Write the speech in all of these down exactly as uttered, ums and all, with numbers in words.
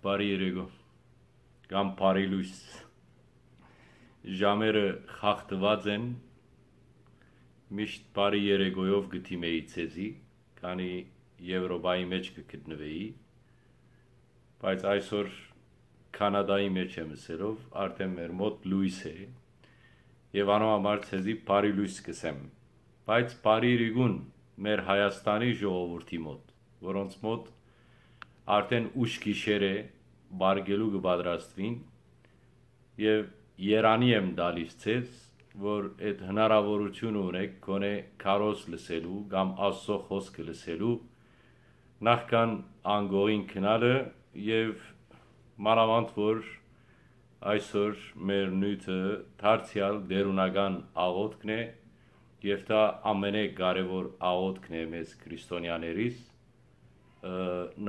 Բարի երեկո կամ բարի լույս։ Ժամերը խախտուած են, միշտ բարի երեկոյով կը դիմէի ձեզի, քանի Եվրոպայի մէջ կը գտնուէի, բայց այսօր Քանադայի մէջ եմ ըսելով, արդէն մեր մօտ լոյս է, եւ անոր համար ձեզի բարի լոյս կ'ըսեմ, բայց բարի իրիկուն մեր Հայաստանի ժողովուրդի մօտ, որոնց մօտ արդէն ուշ գիշեր է, վարկելու կը պատրաստուին, եւ երանի եմ տալիս ձեզ, որ այդ հնարաւորութիւնը ունեք գոնե քարոզ լսելու կամ Աստուծոյ խօսքը լսելու, նախքան անկողին գնալը, եւ մանաւանդ որ այսօր մեր նիւթը դարձեալ տէրունական աղօթքն է, եւ դա ամենէ կարեւոր աղօթքն է մեզ քրիստոնեաներիս, ը,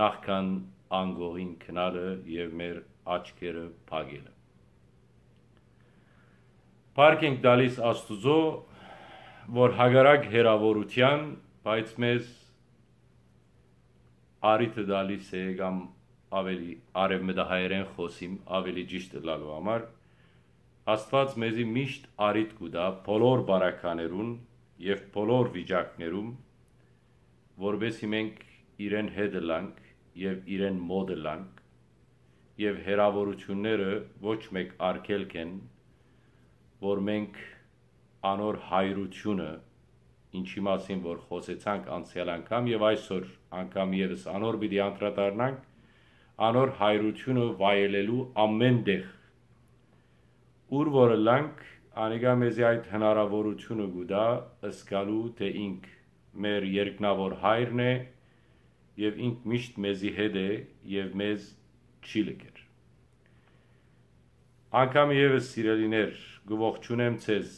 նախքան անկողին գնալը եւ մեր աչքերը փակելը։ Փառք ենք տալիս Աստուծոյ, որ հակառակ հեռաւորութեան, բայց մեզ առիթը տալիս է, կամ ավելի արեւմտահայերէն խօսիմ, ավելի ճիշդ ըլլալու համար, Աստուած մեզի միշտ առիթ կու տայ բոլոր բարականերուն եւ բոլոր վիճակներուն, որպեսզի մենք իրեն հետ ըլլանք եւ իրեն մօտ ըլլանք, եւ հեռաւորութիւնները ոչ մէկ արգելք են, որ մենք անոր հայրութիւնը, ինչի մասին որ խօսեցանք անցեալ անգամ եւ այսօր անգամ եւս անոր պիտի անդրադառնանք, անոր հայրութիւնը վայելելու ամէն տեղ, ուր որ ըլլանք, անիկա մեզի այդ հնարաւորութիւնը կու տայ զգալու, թէ ինք մեր երկնաւոր հայրն է եւ ինք միշտ մեզի հետ է եւ մեզ չի լքեր։ Անգամ եւս, սիրելիներ, կը ողջունեմ ձեզ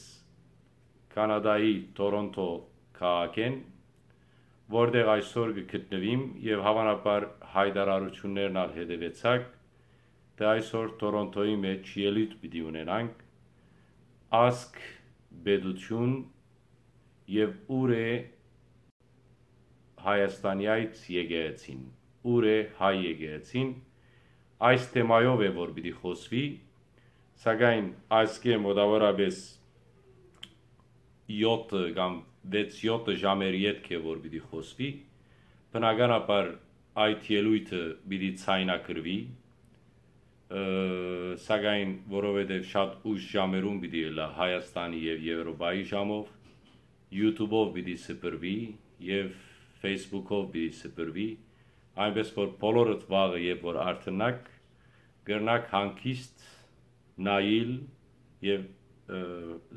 Քանադայի Թորոնթո քաղաքէն, որտեղ այսօր կը գտնուիմ եւ հաւանաբար յայտարարութիւններն ալ հետեւեցաք, թէ այսօր Թորոնթոյի մէջ ելոյթ պիտի ունենանք, ազգ, պետութիւն եւ ուր է Հայաստանի այդ եկեղեցին, ուր է հայ եկեղեցին, այս թեմայով է որ պիտի խօսուի, սակայն այսքէ մոտավորապես յոթը կամ վեց-յոթը ժամեր ետք է որ պիտի խօսուի, բնականաբար այդ ելոյթը պիտի ձայնագրուի, ը, սակայն որովհետեւ շատ ուշ ժամերուն պիտի ըլլայ Հայաստանի եւ Եվրոպայի ժամով, YouTube-ով պիտի սփռուի եւ Facebook-ով պիտի սփռուի, այնպես որ բոլորդ վաղը, երբ որ արթնաք, կրնաք հանգիստ նայիլ եւ, ը,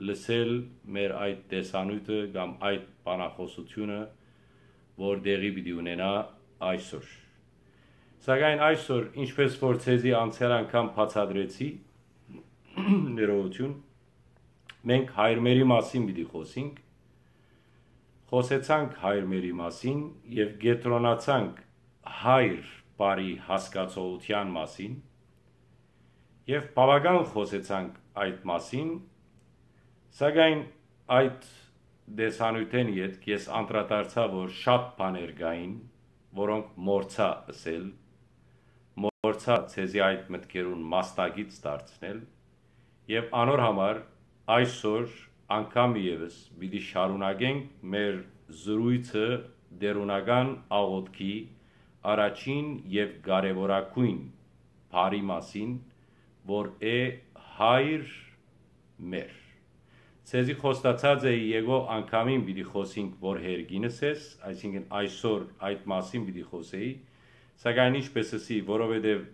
լսել մեր այդ տեսանիւթը կամ այդ բանախօսութիւնը, որ տեղի պիտի ունենայ այսօր։ Սակայն այսօր, ինչպես որ ձեզի անցեալ անգամ բացատրեցի, ներողություն, մենք հայրմերի մասին պիտի խօսենք, խօսեցանք հայրմերի մասին եւ կեդրոնացանք հայր բարի հասկացողութեան մասին եւ բաւական խօսեցանք այդ մասին, սակայն այդ տեսանիւթէն ետք ես անդրադարձայ, որ շատ բաներ կային, որոնք մոռցայ ըսել, մոռցայ ձեզի այդ մտքերուն մասնակից դարձնել, եւ անոր համար այսօր անգամ եւս պիտի շարունակենք մեր զրոյցը տէրունական աղօթքի առաջին եւ կարեւորագոյն բառի մասին, որ է հայր մեր։ Ձեզի խոստացած էի, եկող անգամին պիտի խօսենք, որ հերկինս ես, այսինքն այսօր այդ մասին պիտի խօսեի, սակայն ինչպես ըսի, որովհետեւ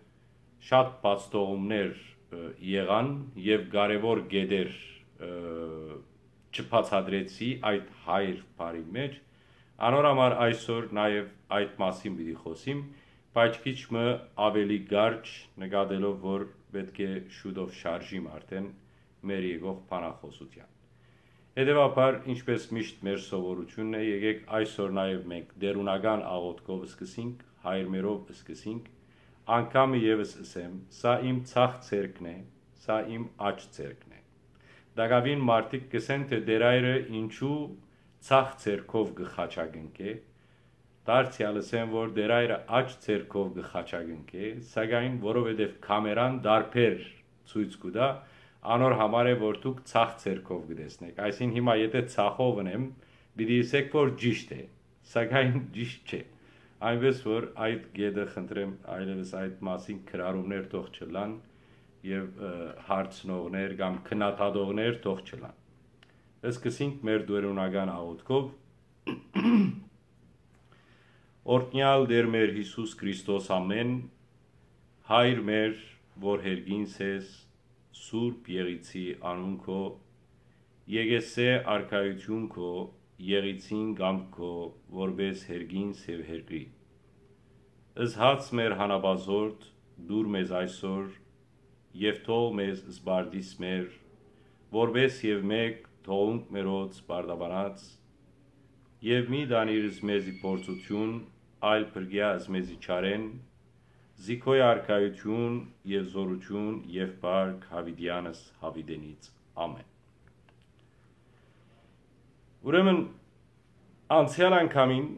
շատ բացթողումներ, ը, եղան եւ կարեւոր կետեր, ը, չբացատրեցի այդ հայր բառի մէջ, անոր համար այսօր նաեւ այդ մասին պիտի խօսիմ, բայց քիչ մը ավելի կարճ, նկատելով որ պէտք է շուտով շարժիմ արդէն մեր եկող բանախօսութեան։ Հետեւաբար, ինչպես միշտ մեր սովորութիւնն է, եկեք այսօր նաեւ մենք տէրունական աղօթքով սկսենք, հայրմերով սկսենք, անգամը եւս ըսեմ, սա իմ ցախ ձեռքն է, սա իմ աջ ձեռքն է։ Տակաւին մարդիկ կ'ըսեն, թէ Տէր Հայրը ինչու ցախ ձեռքով կը խաչակնկէ, Դարձեալ ըսեմ, որ Տեր Հայրը աջ ձեռքով կը խաչակնկէ, սակայն որովհետեւ կամերան տարբեր ցոյց կու տայ, անոր համար է, որ դուք ձախ ձեռքով կը տեսնէք։ Այսինքն հիմա եթե ձախով ընեմ, պիտի ըսէք, որ ճիշդ է, սակայն ճիշդ չէ։ Այնպես որ այդ կետը խնդրեմ այլևս այդ մասին քրարումներ թող չըլլան եւ, ը, հարցնողներ կամ քննադատողներ թող չըլլան։ Սկսենք մեր դերունական աղոթքով։ Օրհնեալ Տեր մեր Յիսուս Քրիստոս ամէն, Հայր մեր, որ հերգինս ես, Սուրբ Եղիցի անուն քո, Եղեսէ արքայութիւն քո, Եղիցին կամք քո, որպէս հերգինս եւ հերկրի։ Զհաց մեր հանապազորդ, դուր մեզ այսօր, եւ թող մեզ սպարտիս մեր, որպէս եւ մէկ թողունք մերոց պարտաբանած, եւ մի տանիր մեզի փորձութիւն, այլ փրկեա մեզի չարէն, զի քոյ արքայութիւն եւ զօրութիւն եւ փառք յաւիտեանս յաւիտենից։ Ամէն։ Ուրեմն, անցեալ անգամին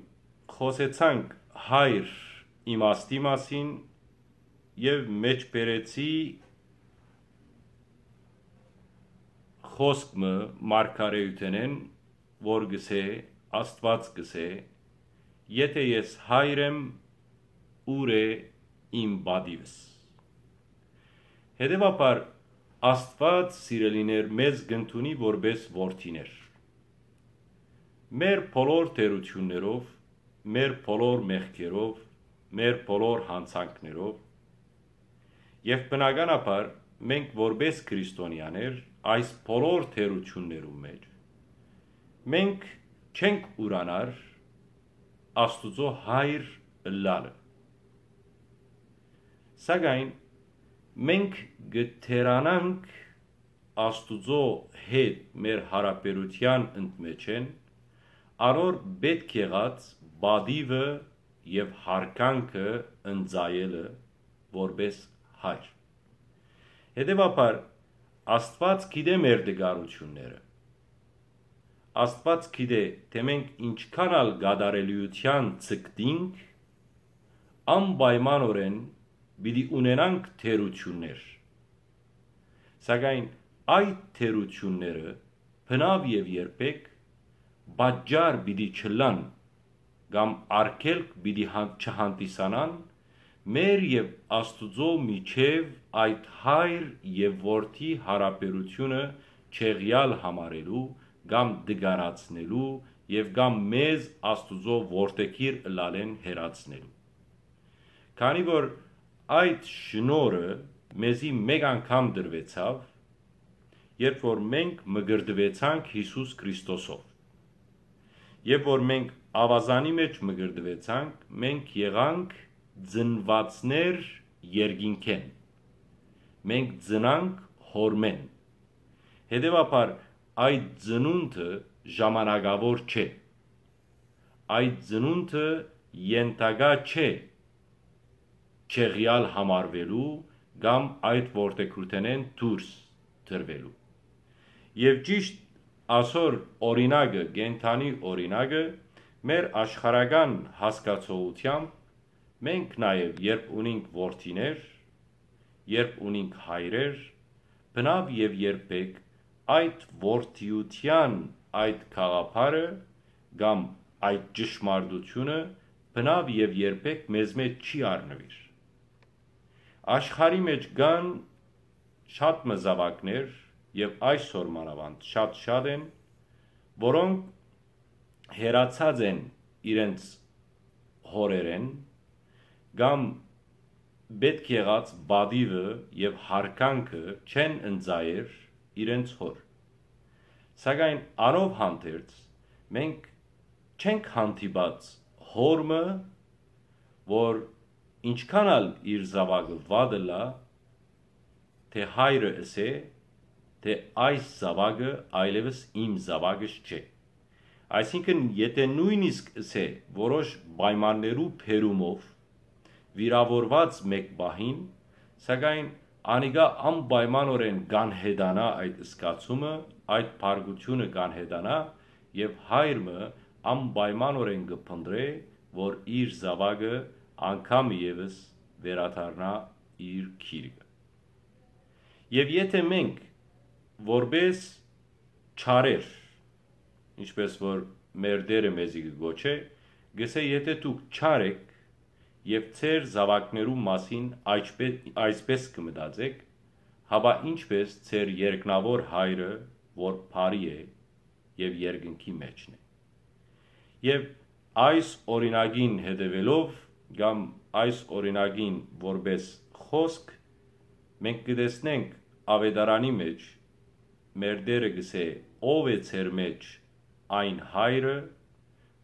խօսեցանք Հայր իմաստի մասին եւ մէջբերեցի խօսք մը մարգարէութենէն, որ կ'ըսէ, Աստուած կ'ըսէ. «Եթէ ես Հայր եմ, ո՞ւր է իմ պատիւս»։ Հետեւաբար, Աստուած, սիրելիներ, մեզ կ'ընդունի որպէս որդիներ։ Մեր բոլոր թերութիւններով, մեր բոլոր մեղքերով, մեր բոլոր յանցանքներով, եւ բնականաբար մենք որպէս քրիստոնեաներ այս բոլոր թերութիւններուն մէջ, մենք չենք ուրանար Աստուծոյ Հայր ըլլալը։ Սակայն մենք կը թերանանք Աստուծոյ հետ մեր յարաբերութեան ընդմէջէն, անոր պէտք եղած պատիւը եւ յարգանքը ընծայելը որպէս Հայր։ Հետեւաբար, Աստուած գիտէ մեր տկարութիւնները։ Աստուած գիտէ, թէ մենք ինչքան ալ կատարելիութեան ձգտինք, անպայմանօրէն պիտի ունենանք թերութիւններ։ Սակայն այդ թերութիւնները բնաւ եւ երբեք պատճառ պիտի չըլլան կամ արգելք պիտի հան-, չհանդիսանան մեր եւ Աստուծոյ միջեւ այդ Հայր եւ Որդի յարաբերութիւնը չեղեալ համարելու կամ տկարացնելու եւ կամ մեզ Աստուծոյ որդեգիր ըլլալէն հեռացնելու։ Քանի որ այդ շնորհը մեզի մէկ անգամ տրուեցաւ, երբ որ մենք մկրտուեցանք Յիսուս Քրիստոսով, երբ որ մենք աւազանի մէջ մկրտուեցանք, մենք եղանք ծնուածներ երկինքէն, մենք ծնանք Հօրմէն։ Հետեւաբար, այդ ծնունդը ժամանակաւոր չէ։ Այդ ծնունդը ենթակայ չէ չեղեալ համարուելու կամ այդ որդեգրութենէն դուրս տրուելու։ Եւ ճիշդ ասոր օրինակը, կենդանի օրինակը, մեր աշխարհական հասկացողութեամբ մենք նաեւ, երբ ունինք որդիներ, երբ ունինք հայրեր, բնաւ եւ երբեք այդ որդիութեան այդ գաղափարը կամ այդ ճշմարտությունը բնաւ եւ երբեք մեզմէ չի առնուիր։ Աշխարհի մէջ կան շատ մը զաւակներ, եւ այսօր մանաւանդ շատ-շատ են, որոնք հեռացած են իրենց հօրերէն կամ պէտք եղած պատիւը եւ յարգանքը չեն ընծայեր իրենց հօր։ Սակայն անով հանդերձ մենք չենք հանդիպած հօր մը, որ ինչքան ալ իր զաւակը վատ ըլլայ, թէ հայրը ըսէ, թէ այս զաւակը այլեւս իմ զաւակս չէ։ Այսինքն, եթէ նոյնիսկ ըսէ որոշ պայմաններու բերումով վիրաւորուած մէկ պահին, սակայն անիկա անպայմանօրէն կանհետանայ այդ զգացումը, այդ բարկութիւնը կանհետանայ եւ հայր մը անպայմանօրէն կը փնտռէ, որ իր զաւակը անգամ ևս վերադառնայ իր գիրկը։ Եւ եթէ մենք որպէս չարեր, ինչպէս որ մեր Տէրը մեզի կը կոչէ, կ'ըսէ. «Եթէ դուք չար էք եւ ձեր զաւակներուն մասին այսպէ-, այսպէս կը մտածէք, հապա ինչպէս ձեր երկնաւոր Հայրը, որ բարի է եւ երկնքի մէջն է»։ Եւ այս օրինակին հետեւելով, կամ այս օրինակին որպէս խօսք, մենք կը տեսնենք Աւետարանի մէջ, մեր Տէրը կ'ըսէ. «Ո՞վ է ձեր մէջ այն հայրը,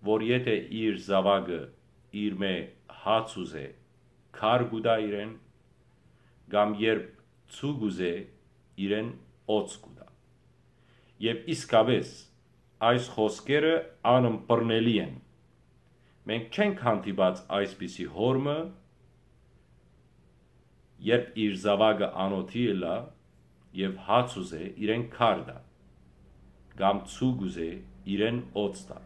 որ եթէ իր զաւակը իրմէ հաց ուզէ, քար կու տայ իրեն, կամ երբ ձու կ'ուզէ, իրեն օձ կու տայ»։ Եւ իսկապէս, այս խօսքերը անըմբռնելի են։ Մենք չենք հանդիպած այսպիսի հօր մը, երբ իր զաւակը անօթի ըլլայ եւ հաց ուզէ, իրեն քար տայ, կամ ձու կ'ուզէ, իրեն օձ տայ։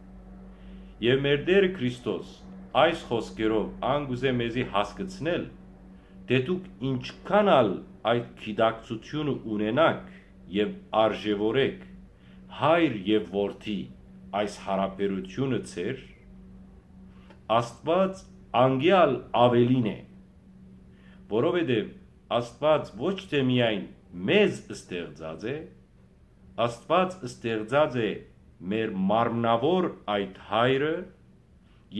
Եւ մեր Տէրը Քրիստոս այս խօսքերով ան կ'ուզէ մեզի հասկցնել, թէ դուք ինչքան ալ այդ գիտակցութիւնը ունենաք եւ արժեւորեք Հայր եւ Որդի այս յարաբերութիւնը ձեր, Աստուած անկեալ աւելին է, որովհետեւ Աստուած ոչ թէ միայն մեզ ստեղծած է, Աստուած ստեղծած է մեր մարմնաւոր այդ Հայրը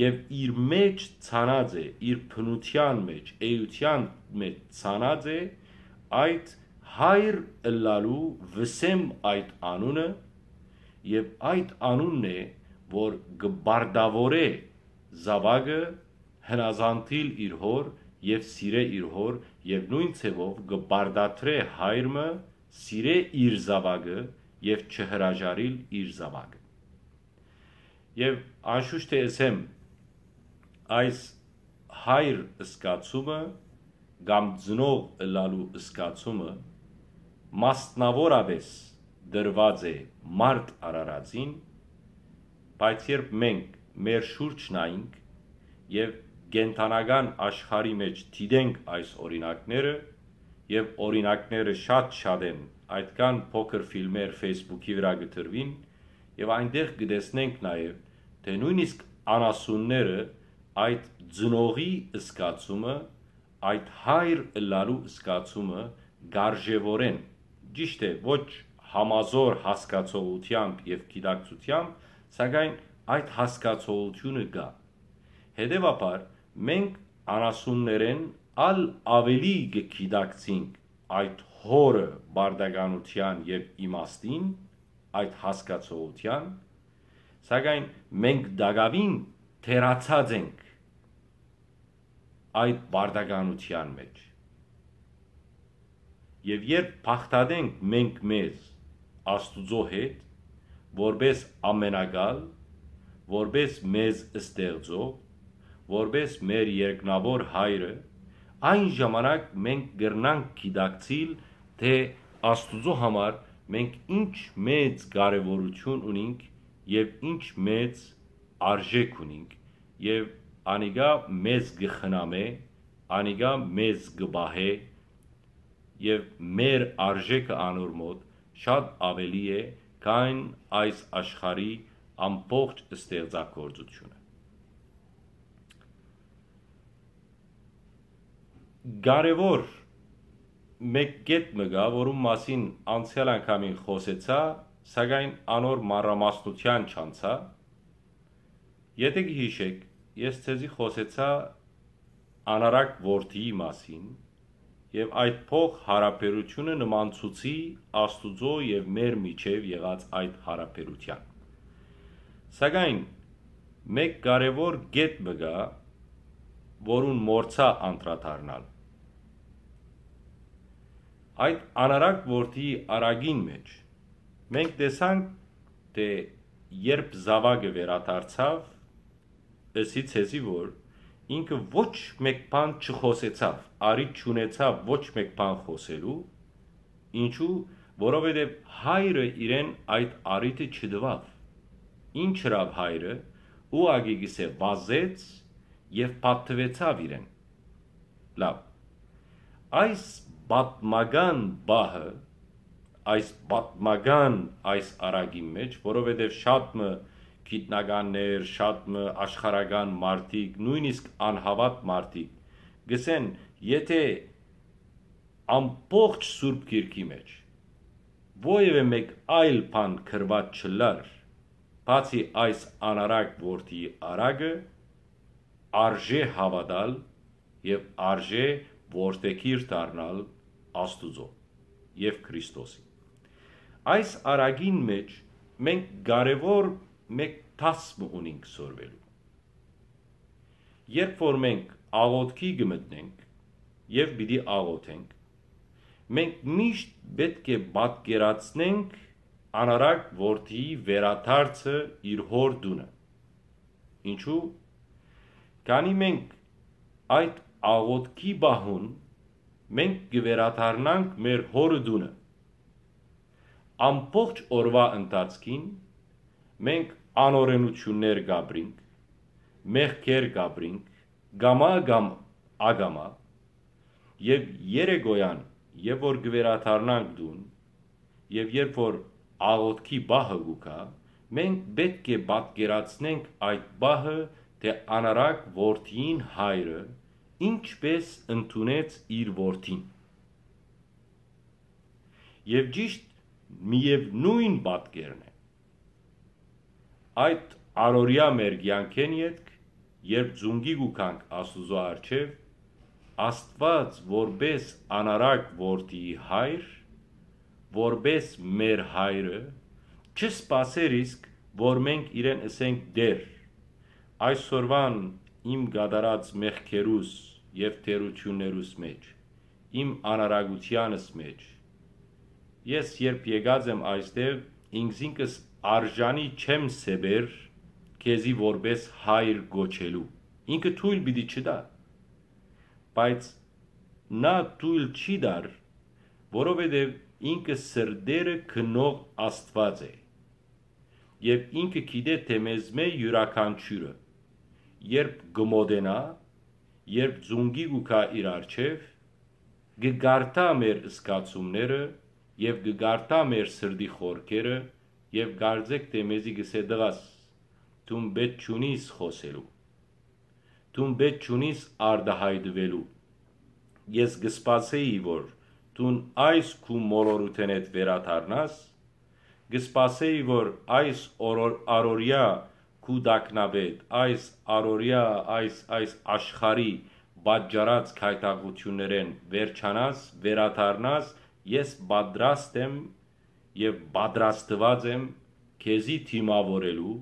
եւ իր մէջ ցանած է, իր բնութեան մէջ, էութեան մէջ ցանած է այդ Հայր ըլլալու վսեմ այդ անունը, եւ այդ անունն է, որ կը բարդաւորէ զաւակը հնազանդիլ իր հօր եւ սիրէ իր հօր, եւ նոյն ձեւով կը բարդատրէ հայր մը սիրէ իր զաւակը եւ չհրաժարիլ իր զաւակը։ Եւ անշուշտ թէ ըսեմ, այս հայր զգացումը կամ ծնող ըլլալու զգացումը մասնաւորապէս տրուած է մարդ արարածին, բայց երբ մենք մեր շուրջ նայենք եւ կենդանական աշխարհի մէջ դիտենք այս օրինակները, եւ օրինակները շատ-շատ են, այդքան փոքր ֆիլմեր Facebook-ի վրայ կը տրուին, եւ այնտեղ կը տեսնենք նաեւ, թէ նոյնիսկ անասունները այդ ծնողի զգացումը, այդ հայր ըլլալու զգացումը կարժեւորեն, ճիշդ է, ոչ համազոր հասկացողութեամբ եւ գիտակցութեամբ, սակայն այդ հասկացողութիւնը կայ։ Հետեւաբար, մենք անասուններէն ալ աւելի կը գիտակցինք այդ հօրը պարտականութեան եւ իմաստին, այդ հասկացողութեան, սակայն մենք տակաւին թերացած ենք այդ պարտականութեան մէջ։ Եւ երբ բաղդատենք մենք մեզ Աստուծոյ հետ, որպէս ամենակալ, որպէս մեզ ստեղծող, որպէս մեր երկնաւոր հայրը, այն ժամանակ մենք կրնանք գիտակցիլ, թէ Աստուծոյ համար մենք ինչ մեծ կարեւորութիւն ունինք եւ ինչ մեծ արժէք ունինք, եւ անիկա մեզ կը խնամէ, անիկա մեզ կը պահէ, եւ մեր արժէքը անոր մօտ շատ աւելի է, քան այս աշխարհի ամբողջ ստեղծագործութիւնը։ Կարեւոր մէկ կետ մը կայ, որուն մասին անցեալ անգամին խօսեցայ, սակայն անոր մանրամասնութեան չանցայ։ Եթէ կը յիշէք, ես ձեզի խօսեցայ անառակ որդիի մասին եւ այդ փոխ յարաբերութիւնը նմանցուցի Աստուծոյ եւ մեր միջեւ եղած այդ յարաբերութեան։ Սակայն մէկ կարեւոր կետ մը կայ, որուն մոռցայ անդրադառնալ։ Այդ անառակ որդիի առակին մէջ մենք տեսանք, թէ երբ զաւակը վերադարձաւ, ըսի ձեզի, որ ինքը ոչ մէկ բան չխօսեցաւ, առիթ չունեցաւ ոչ մէկ բան խօսելու, ինչու, որովհետեւ հայրը իրեն այդ առիթը չտուաւ։ Ինչ ըրաւ հայրը, ուղղակի կ'ըսէ, վազեց եւ պատտուեցաւ իրեն։ Լաւ։ Այս պատմական պահը, այս պատմական այս արագին մէջ, որովհետեւ շատ մը գիտնականներ, շատ մը աշխարհական մարդիկ, նոյնիսկ անհաւատ մարդիկ, գսեն, եթէ ամբողջ Սուրբ Գիրքի մէջ որեւէ մէկ այլ բան գրուած չըլլար, բացի այս անարակ որդիի արագը, արժէ հաւատալ եւ արժէ որդեգիր դառնալ Աստուծոյ եւ Քրիստոսին։ Այս արագին մէջ մենք կարեւոր մէկ դաս մը ունինք սորվելու։ Երբ որ մենք աղօթքի կը մտնենք եւ պիտի աղօթենք, մենք միշտ պէտք է պատկերացնենք անարակ որդիի վերադարձը իր հօր տունը։ Ինչու՞։ Քանի մենք այդ աղօթքի պահուն մենք կը վերադառնանք մեր հօրը տունը։ Ամբողջ օրուայ ընթացքին մենք անօրենութիւններ կ'ապրինք, մեղքեր կ'ապրինք, կամայ կամ ակամայ, եւ երեկոյան, երբ որ կը վերադառնանք տուն, եւ երբ որ աղօթքի պահը կու գայ, մենք պէտք է պատկերացնենք այդ պահը, թէ անարակ որդիին հայրը ինչպէս ընդունեց իր որդին։ Եւ ճիշդ միեւնոյն պատկերն է։ Այդ առօրեայ մեր կեանքէն ետք, երբ ծունկի կու գանք Աստուծոյ առջեւ, Աստուած որպէս անարակ որդիի հայր, որպէս մեր հայրը, չսպասեր իսկ, որ մենք իրեն ըսենք. «Տէր, այսօրուան իմ կատարած մեղքերուս եւ թերութիւններուս մէջ, իմ անարագութեանս մէջ, ես երբ եկած եմ այստեղ, ինքզինքս արժանի չեմ սեպեր քեզի որպէս հայր կոչելու»։ Ինքը թոյլ պիտի չտայ, բայց նա թոյլ չի տար, որովհետեւ ինքը սրտերը գնող Աստուած է եւ ինքը գիտէ թէ մեզմէ իւրաքանչիւրը, երբ կը մօտենայ, երբ ծունկի կու գայ իր առջեւ, կը կարդայ մեր զգացումները եւ կը կարդայ մեր սրտի խորքերը եւ կարծէք թէ մեզի կ'ըսէ. «Տղաս, դուն պէտք չունիս խօսելու, դուն պէտք չունիս արտայայտուելու։ Ես կը սպասէի, որ դուն այս քու մոլորութենէդ վերադառնաս, կը սպասէի, որ այս օրոր-, առօրեայ քու տագնապէդ, այս առօրեայ, այս, այս աշխարհի պատճառած գայթակղութիւններէն վերջանաս, վերադառնաս, ես պատրաստ եմ եւ պատրաստուած եմ քեզի դիմաւորելու,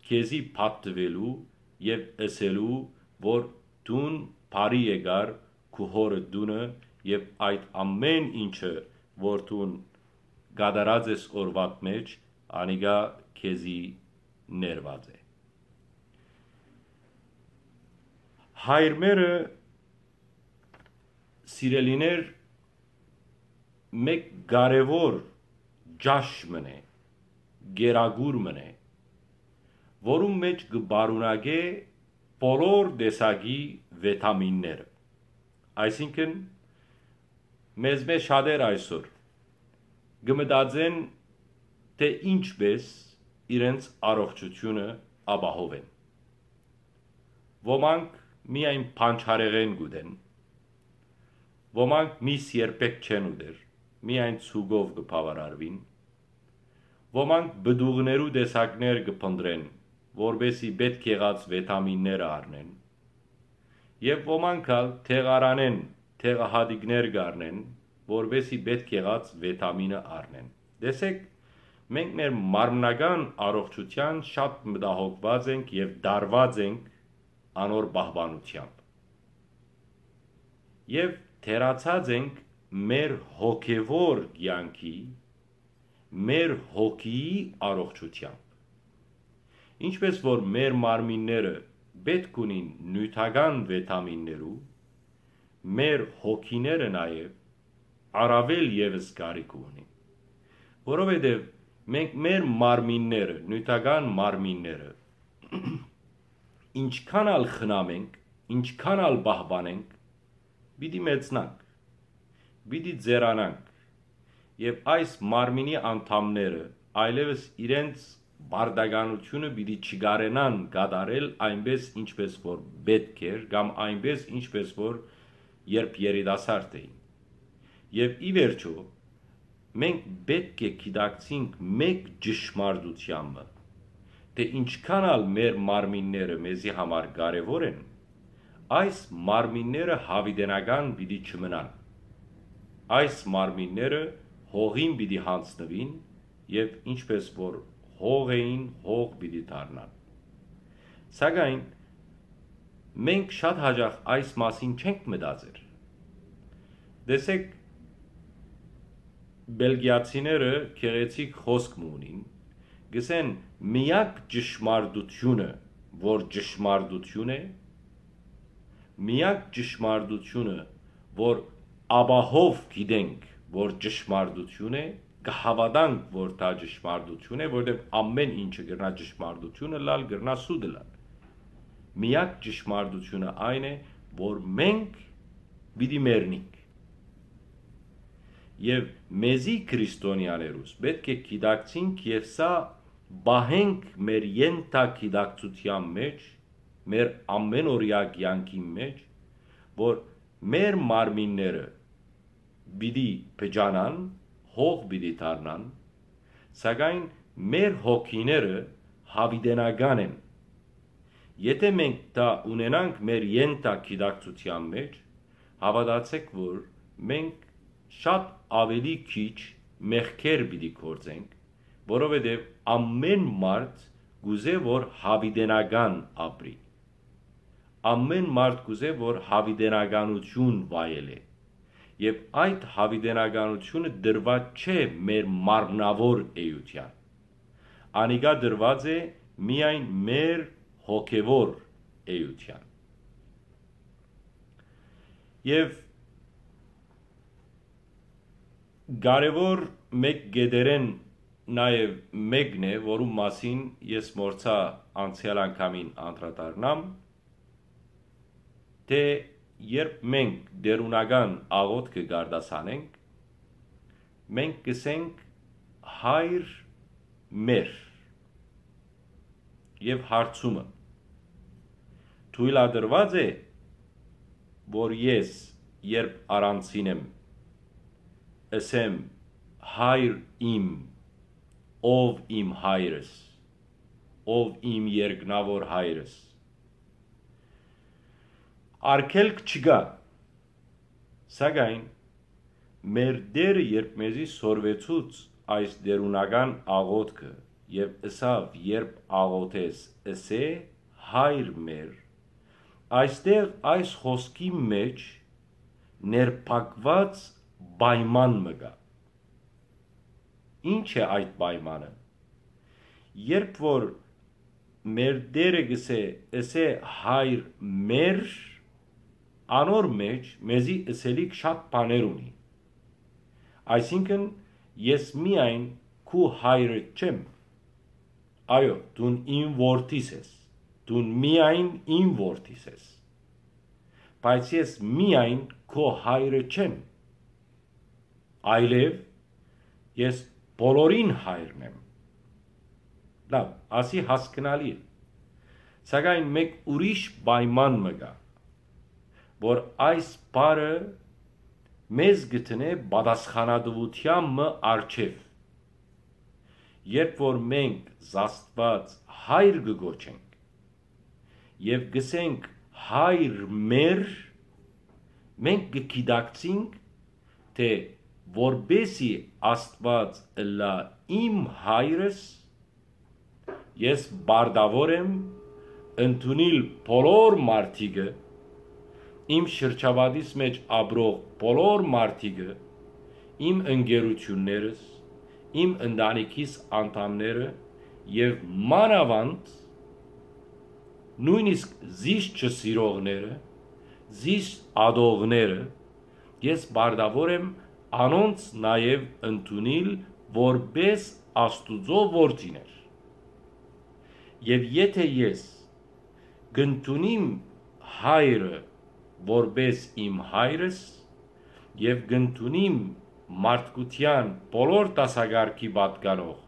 քեզի պատտուելու եւ ըսելու, որ դուն բարի եկար քու հօրը տունը եւ այդ ամէն ինչը, որ դուն կատարած ես օրուադ մէջ, անիկա քեզի ներուած է»։ Հայրմերը, սիրելիներ, մէկ կարեւոր ճաշ մըն է, գերագուր մըն է, որուն մէջ կը պարունակէ բոլոր տեսակի վետամինները։ Այսինքն, մեզմէ շատեր այսօր կը մտածեն, թէ ինչպէս իրենց առողջութիւնը ապահովեն։ Ոմանք միայն պանչարեղէն կ'ուտեն, ոմանք միս երբեք չեն ուտեր, միայն ցուկով կը բաւարարուին, ոմանք պտուղներու տեսակներ կը փնտռեն, որպէսզի պէտք եղած վետամինները առնեն, եւ ոմանք ալ դեղարանէն դեղահատիկներ կ'առնեն, որպէսզի պէտք եղած վետամինը առնեն։ Տեսեք, մենք մեր մարմնական առողջութեան շատ մտահոգուած ենք եւ տարուած ենք անոր պահպանութեամբ։ Եւ թերացած ենք մեր հոգեվոր կեանքի, մեր հոգիի առողջութեամբ։ Ինչպէս որ մեր մարմինները պէտք ունին նիւթական վետամիններու, մեր հոգիները նաեւ առաւել եւս կարիք ունին, որովհետեւ մենք մեր մարմինները, նիւթական մարմինները, ինչքան ալ խնամենք, Ինչքան ալ պահպանենք, պիտի մեծնանք, պիտի ձեռանանք, եւ այս մարմինի անդամները այլեւս իրենց պարտականութիւնը պիտի չկարենան կատարել այնպես, ինչպես որ պէտք էր, կամ այնպես, ինչպես որ երբ երիտասարդ էին։ Եւ ի վերջոյ, մենք պէտք է գիտակցինք մէկ ճշմարտութեան մը, թէ ինչքան ալ մեր մարմինները մեզի համար կարեւոր են, այս մարմինները յաւիտենական պիտի չմնան։ Այս մարմինները հողին պիտի յանձնուին եւ ինչպես որ հող էին, հող պիտի դառնան։ Սակայն մենք շատ յաճախ այս մասին չենք մտածեր։ Տեսեք, բելգիացիները գեղեցիկ խօսք մը ունին, գսեն. «Միակ ճշմարտությունը, որ ճշմարտություն է, միակ ճշմարտությունը, որ ապահով գիտենք, որ ճշմարտություն է, կհաւատանք, որ դա ճշմարտություն է, որտեղ ամեն ինչը կրնա ճշմարտություն ըլլալ, կրնա սուտ ըլլալ։ Միակ ճշմարտությունը այն է, որ մենք պիտի մեռնինք»։ Եւ մեզի քրիստոնեաներուս պէտք է գիտակցինք եւ սա պահենք մեր ենթագիտակցութեան մեջ, մեր ամենօրեայ կեանքին մեջ, որ մեր մարմինները պիտի փճանան, հող պիտի դառնան, սակայն մեր հոգիները յաւիտենական են։ Եթէ մենք դա ունենանք մեր ենթագիտակցութեան մեջ, հաւատացէք, որ մենք շատ աւելի քիչ մեղքեր պիտի գործենք, որովհետեւ ամեն մարդ կ'ուզէ, որ յաւիտենական ապրի։ Ամեն մարդ կ'ուզէ, որ յաւիտենականություն վայելէ։ Եւ այդ յաւիտենականությունը տրուած չէ մեր մարմնաւոր էութեան։ Անիկա տրուած է միայն մեր հոգեվոր էութեան։ Եւ կարեւոր մէկ կետերէն նաեւ մէկն է, որու մասին ես մոռցայ անցեալ անգամին անդրադառնամ, թէ երբ մենք տէրունական աղօթքը կ'արտասանենք, մենք կ'ըսենք. «Հայր մեր»։ Եւ հարցումը. թոյլատրուա՞ծ է, որ ես, երբ առանձին եմ, ըսեմ. «Հայր իմ, ով իմ հայրս, ով իմ երկնաւոր հայրս»։ Արգելք չկայ, սակայն մեր Տէրը երբ մեզի սորվեցուց այս տէրունական աղօթքը եւ ըսաւ. «Երբ աղօթես, ըսէ. Հայր մեր», այստեղ այս խօսքի մեջ ներփակուած պայման մը կայ։ Ի՞նչ է այդ պայմանը։ Երբ որ մեր Տէրը կ'ըսէ, ըսէ. «Հայր մեր», անոր մեջ մեզի ըսելիք շատ բաներ ունի։ Այսինքն, ես միայն քու հայրդ չեմ։ Այո, դուն իմ որդիս ես, դուն միայն իմ որդիս ես, բայց ես միայն քո հայրը չեմ, այլեւ ես բոլորին հայրն եմ։ Լավ, ասի հասկնալի է, սակայն մէկ ուրիշ պայման մը կայ, որ այս բառը մեզ կը դնէ պատասխանատուութեան մը առջեւ։ Երբ որ մենք Աստուած հայր կը կոչենք եւ կ'ըսենք. «Հայր մեր», մենք կը գիտակցինք, թէ որպէսի Աստուած ըլլայ իմ հայրս, ես պարտաւոր եմ ընդունիլ բոլոր մարդիկը, իմ շրջապատիս մեջ ապրող բոլոր մարդիկը, իմ ընկերություններս, իմ ընտանիքիս անդամները եւ մանաւանդ նոյնիսկ զիս չսիրողները, զիս ատողները, ես պարտաւոր եմ անոնց նաեւ ընդունիլ որպէս Աստուծոյ որդիներ։ Եւ եթէ ես կ'ընդունիմ հայրը որպէս իմ հայրս եւ կ'ընդունիմ մարդկութեան բոլոր դասակարգի պատկանող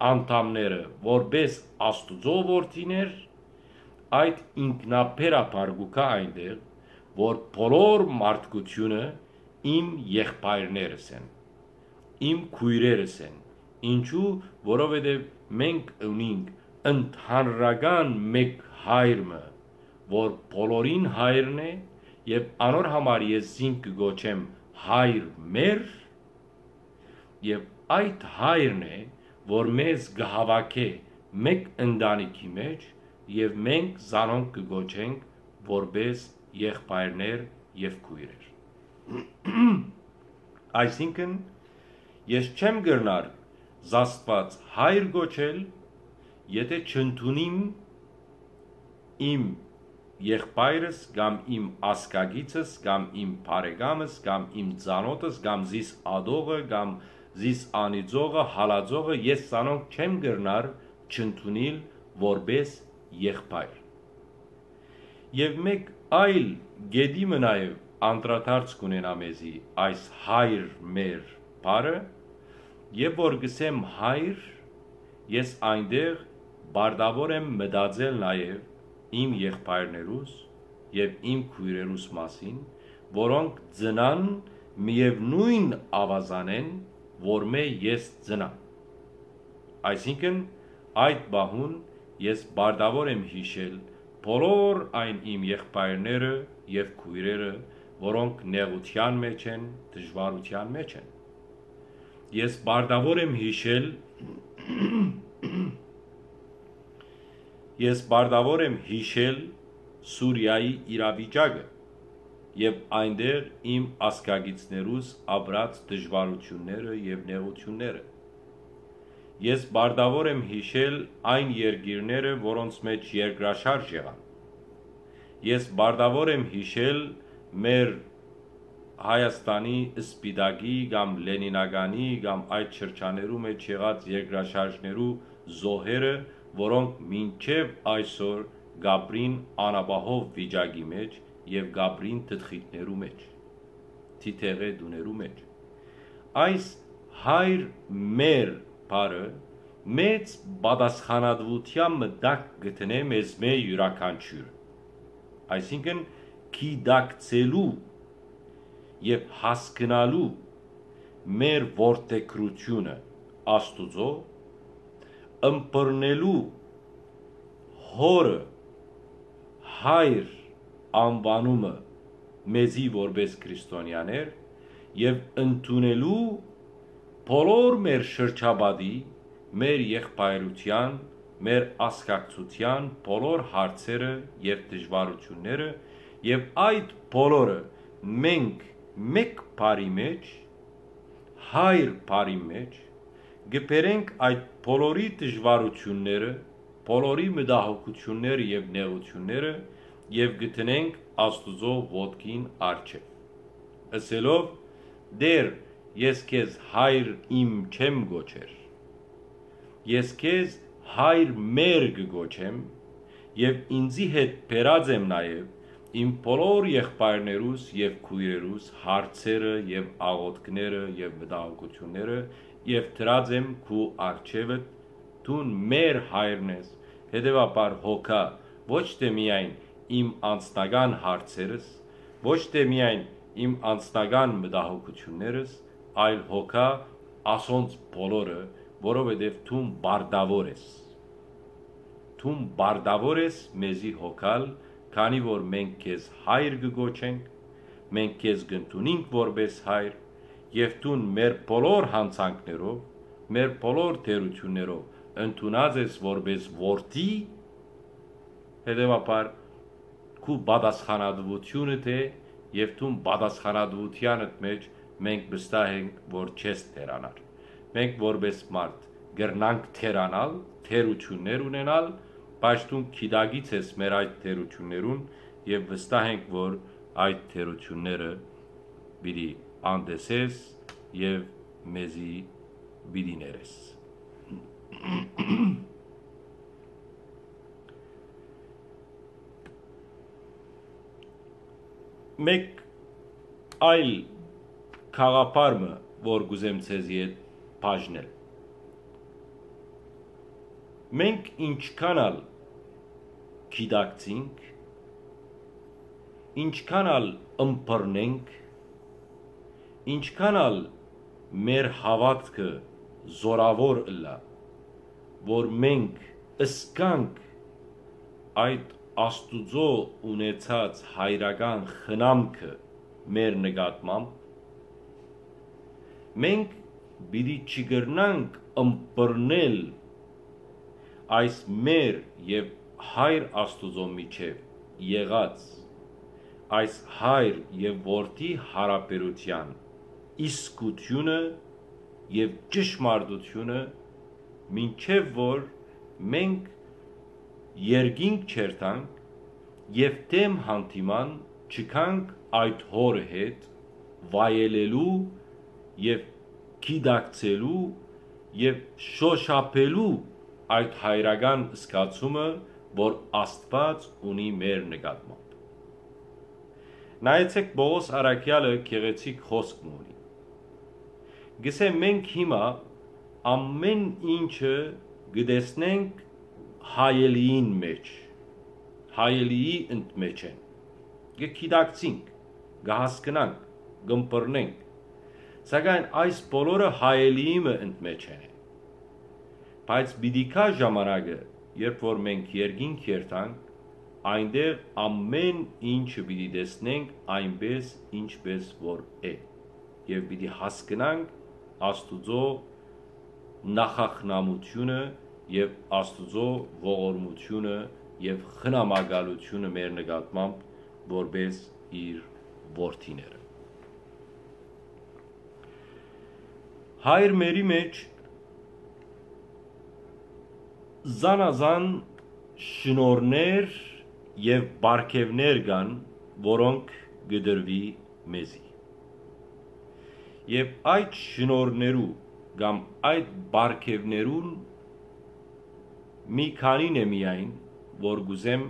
անդամները որպէս Աստուծոյ որդիներ, այդ ինքնաբերաբար կու գայ այնտեղ, որ բոլոր մարդկութիւնը իմ եղբայրներս են, իմ քոյրերս են։ Ինչու՞, որովհետեւ մենք ունինք ընդհանրական մէկ հայր մը, որ բոլորին հայրն է, եւ անոր համար ես զինք կը կոչեմ հայր մեր, եւ այդ հայրն է, որ մեզ կը հաւաքէ մէկ ընտանիքի մէջ, եւ մենք զանոնք կը կոչենք որպէս եղբայրներ եւ քոյրեր։ Այսինքն, ես չեմ կրնար զաստուած հայր կոչել, եթէ չընդունիմ իմ եղբայրս կամ իմ ազգակիցս կամ իմ բարեկամս կամ իմ ծանօթս կամ զիս ատողը կամ զիս անիծողը, հալածողը, ես զանոնք չեմ կրնար չընդունիլ որպէս եղբայր։ Եւ մէկ այլ կետի մը նաեւ անդրադարձ կ'ունենայ մեզի այս հայր մեր բառը, եւ որ կ'ըսեմ հայր, ես այնտեղ պարտաւոր եմ մտածել նաեւ իմ եղբայրներուս եւ իմ քոյրերուս մասին, որոնք ծնան միեւնոյն աւազանէն, որմէ ես ծնամ։ Այսինքն, այդ պահուն ես պարտաւոր եմ յիշել բոլոր այն իմ եղբայրները եւ քոյրերը, որոնք նեղութեան մէջ են, դժուարութեան մէջ են։ Ես պարտաւոր եմ յիշել, ես պարտաւոր եմ յիշել Սուրիայի իրավիճակը եւ այնտեղ իմ ազգակիցներուս ապրած դժուարութիւնները եւ նեղութիւնները։ Ես պարտաւոր եմ յիշել այն երկիրները, որոնց մէջ երկրաշարժ եղան։ Ես պարտաւոր եմ յիշել մեր Հայաստանի Սպիտակի կամ Լենինականի կամ այդ շրջաներու մէջ եղած երկրաշարժներու զոհերը, որոնք մինչեւ այսօր կ'ապրին անապահով վիճակի մէջ եւ կ'ապրին թթխիթներու մէջ, թիթեղէ տուներու մէջ։ Այս հայր մեր բառը մեծ պատասխանատուութեան մը տակ կը դնէ մեզմէ իւրաքանչիւրը։ Այսինքն, գիտակցելու եւ հասկնալու մեր որդեգրութիւնը Աստուծոյ, ըմբռնելու հօրը հայր անուանումը մեզի որպէս քրիստոնեաներ եւ ընդունելու բոլոր մեր շրջապատի, մեր եղբայրութեան, մեր ազգակցութեան բոլոր հարցերը եւ դժուարութիւնները, եւ այդ բոլորը մենք մէկ բառի մէջ, հայր բառի մէջ, կը բերենք այդ բոլորի դժուարութիւնները, բոլորի մտահոգութիւնները եւ նեղութիւնները եւ կը դնենք Աստուծոյ ոտքին առջեւ, ըսելով. «Տէր, ես քեզ հայր իմ չեմ կոչեր, ես քեզ հայր մեր կը կոչեմ եւ ինծի հետ բերած եմ նաեւ իմ բոլոր եղբայրներուս եւ քոյրերուս հարցերը եւ աղօթքները եւ մտահոգութիւնները եւ դրած եմ քու առջեւդ, դուն մեր հայրն ես, հետեւաբար հոգա ոչ թէ միայն իմ անձնական հարցերս, ոչ թէ միայն իմ անձնական մտահոգութիւններս, այլ հոգա ասոնց բոլորը, որովհետեւ դուն պարտաւոր ես։ Դուն պարտաւոր ես մեզի հոգալ, քանի որ մենք քեզ հայր կը կոչենք, մենք քեզ կ'ընդունինք որպէս հայր, եւ դուն մեր բոլոր յանցանքներով, մեր բոլոր թերութիւններով ընդունած ես որպէս որդի, հետեւաբար քու պատասխանատուութիւնդ է եւ դուն պատասխանատուութեանդ մէջ մենք վստահ ենք, որ չես թերանար։ Մենք որպէս մարդ կրնանք թերանալ, թերութիւններ ունենալ, բայց դուն գիտակից ես մեր այդ թերութիւններուն եւ վստահ ենք, որ այդ թերութիւնները պիտի անտեսես եւ մեզի պիտի ներես»։ Մէկ այլ գաղափար մը, որ կ'ուզեմ ձեզի հետ բաժնել։ Մենք ինչքան ալ գիտակցինք, ինչքան ալ ըմբռնենք, ինչքան ալ մեր հաւատքը զօրաւոր ըլլայ, որ մենք ըսկանք այդ Աստուծոյ ունեցած հայրական խնամքը մեր նկատմամբ, մենք պիտի չկրնանք ըմբռնել այս մեր եւ Հայր Աստուծոյ միջեւ եղած այս հայր եւ որդի յարաբերութեան իսկութիւնը եւ ճշմարտութիւնը, մինչեւ որ մենք երկինք չերթանք եւ դէմ հանդիման չգանք այդ հորը հետ վայելելու եւ գիտակցելու եւ շոշափելու այդ հայրական զգացումը, որ Աստուած ունի մեր նկատմամբ։ Նայեցէք, Պողոս առաքեալը գեղեցիկ խօսք մը ունի։ Գսէ, մենք հիմա ամէն ինչը կը տեսնենք հայելիին մէջ, հայելիի ընդմէջէն։ Կը գիտակցինք, կը հասկնանք, կ'ըմբռնենք, սակայն այս բոլորը հայելիի մը ընդմէջէն է։ Բայց պիտի գայ ժամանակը, երբ որ մենք երկինք երթանք, այնտեղ ամէն ինչը պիտի տեսնենք այնպես, ինչպես որ է, եւ պիտի հասկնանք Աստուծոյ նախախնամութիւնը եւ Աստուծոյ ողորմութիւնը եւ խնամակալութիւնը մեր նկատմամբ որպես իր որդիները։ Հայր մերի մէջ զանազան շնորհներ եւ պարգեւներ կան, որոնք կը տրուի մեզի։ Եւ այդ շնորհներու կամ այդ պարգեւներուն մի քանին է միայն, որ կ'ուզեմ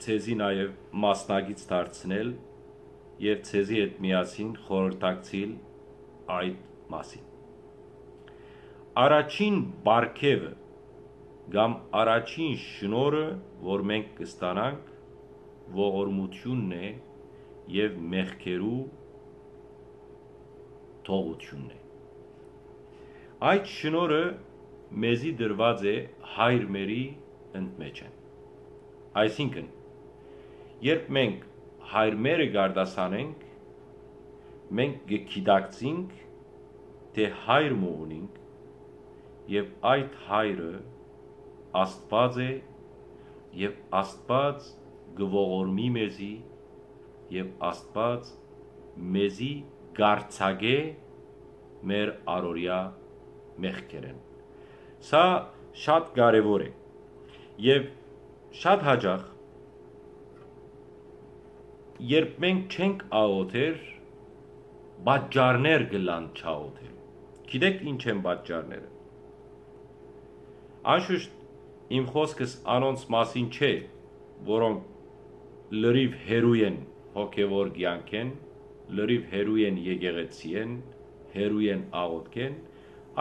ձեզի նաեւ մասնակից դարձնել եւ ձեզի հետ միասին խորհրդակցիլ այդ մասին։ Առաջին պարգեւը կամ առաջին շնորհը, որ մենք կստանանք, ողորմութիւնն է եւ մեղքերու թողութիւնն է։ Այդ շնորհը մեզի տրուած է հայր մերի ընդմէջէն։ Այսինքն, երբ մենք հայր մերը կ'արտասանենք, մենք կը գիտակցինք, թէ հայր մը ունինք եւ այդ հայրը Աստուած է եւ Աստուած կը ողորմի մեզի եւ Աստուած մեզի կ'արձակէ մեր առօրեայ մեղքերէն։ Սա շատ կարեւոր է եւ շատ յաճախ, երբ մենք չենք աղոթեր, պատճառներ կ'ըլլան չաղոթելու։ Գիտեք ի՞նչ են պատճառները։ Անշուշտ իմ խօսքս անոնց մասին չէ, որոնք լրիվ հեռու են հոգեւոր կեանքէն, լրիվ հեռու են եկեղեցիէն, հեռու են աղոթքէն,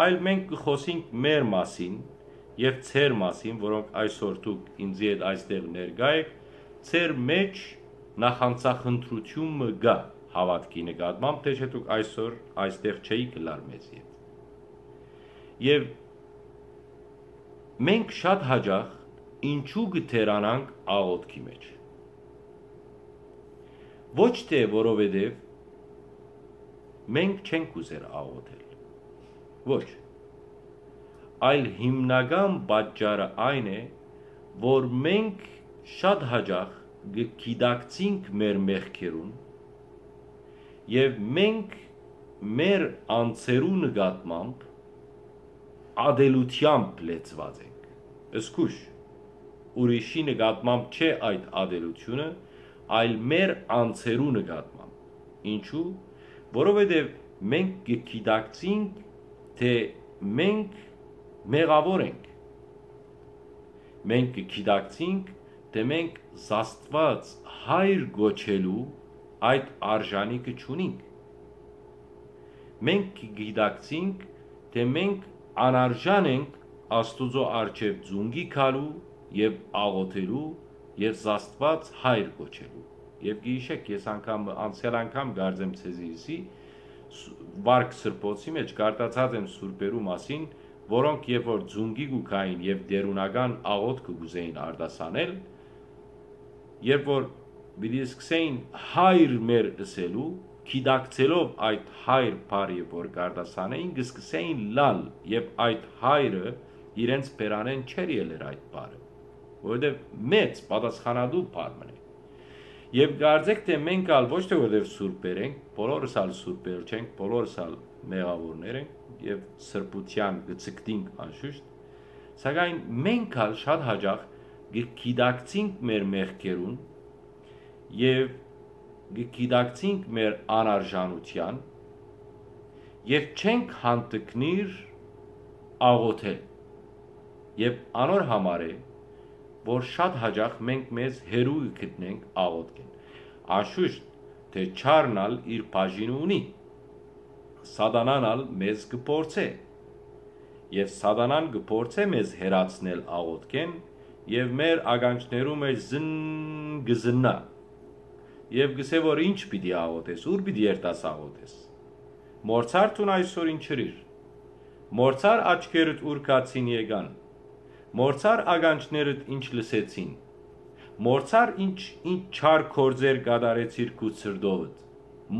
այլ մենք կը խօսենք մեր մասին եւ ձեր մասին, որոնք այսօր դուք ինծի հետ այստեղ ներկայ էք, ձեր մէջ նախանձախնդրութիւն մը կայ հաւատքի նկատմամբ, թէ չէ դուք այսօր այստեղ չէիք ըլլար մեզի հետ։ Եւ մենք շատ յաճախ ինչու կը թերանանք աղոթքի մէջ։ Ոչ թէ որովհետեւ մենք չենք ուզեր աղոթել։ Ոչ։ Այլ հիմնական պատճառը այն է, որ մենք շատ յաճախ կը գիտակցինք մեր մեղքերուն եւ մենք մեր անձերու նկատմամբ ատելությամբ լեցուած ենք։ Զգուշ, ուրիշի նկատմամբ չէ այդ ատելութիւնը, այլ մեր անձերու նկատմամբ։ Ինչու՞։ Որովհետեւ մենք կը գիտակցինք, թէ մենք մեղաւոր ենք։ Մենք կը գիտակցինք, թէ մենք զաստուած հայր կոչելու այդ արժանիքը չունինք։ Մենք կը գիտակցինք, թէ մենք անարժան ենք Աստուծոյ առջեւ ծունկի գալու եւ աղօթելու եւ զաստուած հայր կոչելու։ Եւ գիշեք, ես անգամ, անցեալ անգամ կարծեմ ձեզի ըսի, ս-, վարք սրբոցի մեջ կարտացած եմ սուրբերու մասին, որոնք երբ որ ծունկի կու գային եւ տէրունական աղօթքը կուզեին արտասանել, երբ որ պիտի սկսեին հայր մեր ըսելու, գիտակցելով այդ հայր բառը որ կարտասանեին, կսկսեին լալ եւ այդ հայրը իրենց բերանէն չէր ելեր այդ բառը, որովհետեւ մեծ պատասխանատու բառ մնե։ Եւ կարծեք թէ մենք ալ ոչ թէ որովհետեւ սուրբեր ենք, բոլորս ալ սուրբեր չենք, բոլորս ալ մեղաւորներ ենք եւ սրբութեան կը ցկտինք անշուշտ, սակայն մենք ալ շատ հաճախ կը գիտակցինք մեր մեղքերուն եւ կը գիտակցինք մեր անարժանութեան եւ չենք հանդգնիր աղոթել։ Եւ անոր համար է, որ շատ հաճախ մենք մեզ հեռու կը գտնենք աղոթքէն։ Անշուշտ թէ չարն ալ իր բաժինը ունի, սատանան ալ մեզ կը փորձէ, եւ սատանան կը փորձէ մեզ հեռացնել աղոթքէն եւ մեր ականջներու մեջ զն-, կը զննայ եւ կ'ըսէ որ ինչ պիտի աղոթես, ո՞ւր պիտի երթաս աղոթես։ Մոռցա՞ր դուն այսօր ինչ ըրիր։ Մոռցա՞ր աչքերդ ուր գացին եկան։ Մոռցա՞ր ականջներդ ինչ լսեցին։ Մոռցա՞ր ինչ, ինչ չար գործեր կատարեցիր քու սրտովդ։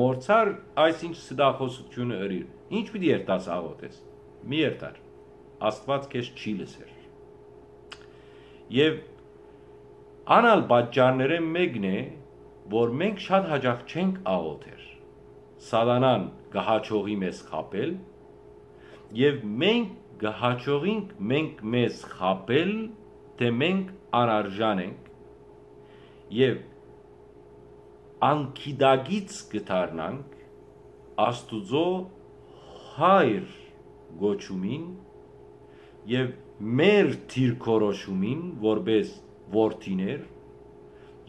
Մոռցա՞ր այս ինչ ստախոսությունը ըրիր։ Ինչ պիտի երթաս աղոթես։ Մի երթար։ Աստուած քեզ չի լսեր։ Եւ ան ալ պատճառներէն մէկն է, որ մենք շատ հաճախ չենք աղոթեր։ Սատանան կը հաջողի մեզ խաբել, եւ մենք կը հաջողինք մենք մեզ խաբել, թէ մենք անարժան ենք, եւ անգիտակից կը դառնանք Աստուծոյ հայր կոչումին եւ մեր դիրքորոշումին որպէս որդիներ,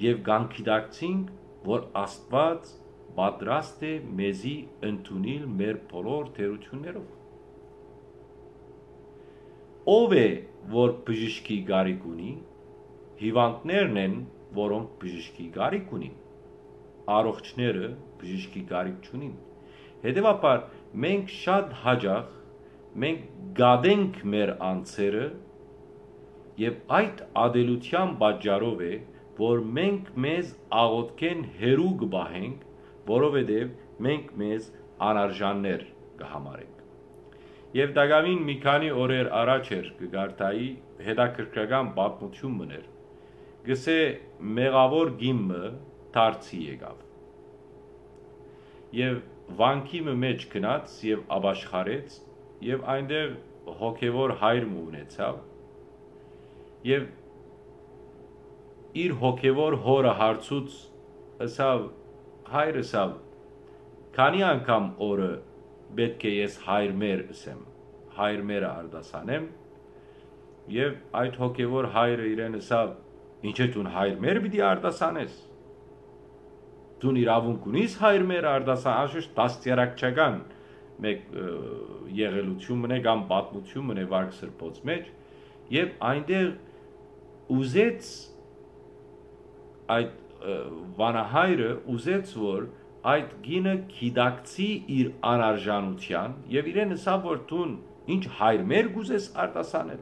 եւ կանգիտակցինք, որ Աստուած պատրաստ է մեզի ընդունիլ մեր բոլոր թերություններով։ Ո՞վ է, որ բժշկի կարիք ունի, հիվանդներն են, որոնք բժշկի կարիք ունին, առողջները բժշկի կարիք չունին։ Հետեւաբար մենք շատ հաճախ մենք գատենք մեր անձերը, եւ այդ ատելութեան պատճառով է, որ մենք մեզ աղոթքէն հեռու կը պահենք, որովհետեւ մենք մեզ անարժաններ կը համարենք։ Եւ տակաւին մի քանի օրեր առաջ էր, կը կարդայի, հետաքրքրական պատմութիւն մըն էր։ Կ'ըսէ, մեղաւոր կին մը դարձի եկաւ եւ վանքի մը մէջ գնաց եւ ապաշխարեց, եւ այնտեղ հոգեւոր հայր մը ունեցաւ, եւ իր հոգեւոր հօրը հարցուց, ըսաւ, հայր, ըսաv, քանի՞ անգամ օրը պէտք է ես հայր մեր ըսեմ, հայր մերը արտասանեմ։ Եւ այդ հոգեւոր հայրը իրեն ըսաւ, ինչ է դուն հայր մեր պիտի արտասանես։ Դուն իրաւունք ունիս հայր մեր արտասան, անշուշտ դաստիարակչական մէկ, ը, եղելութիւն մնե կամ պատմութիւն մնե վարք սրբոց մեջ, եւ այնտեղ ուզեց այդ, ը, վանահայրը ուզեց, որ այդ կինը գիտակցի իր անարժանութեան, եւ իրեն ըսաւ, որ դուն ինչ հայր մեր կուզես արտասանել,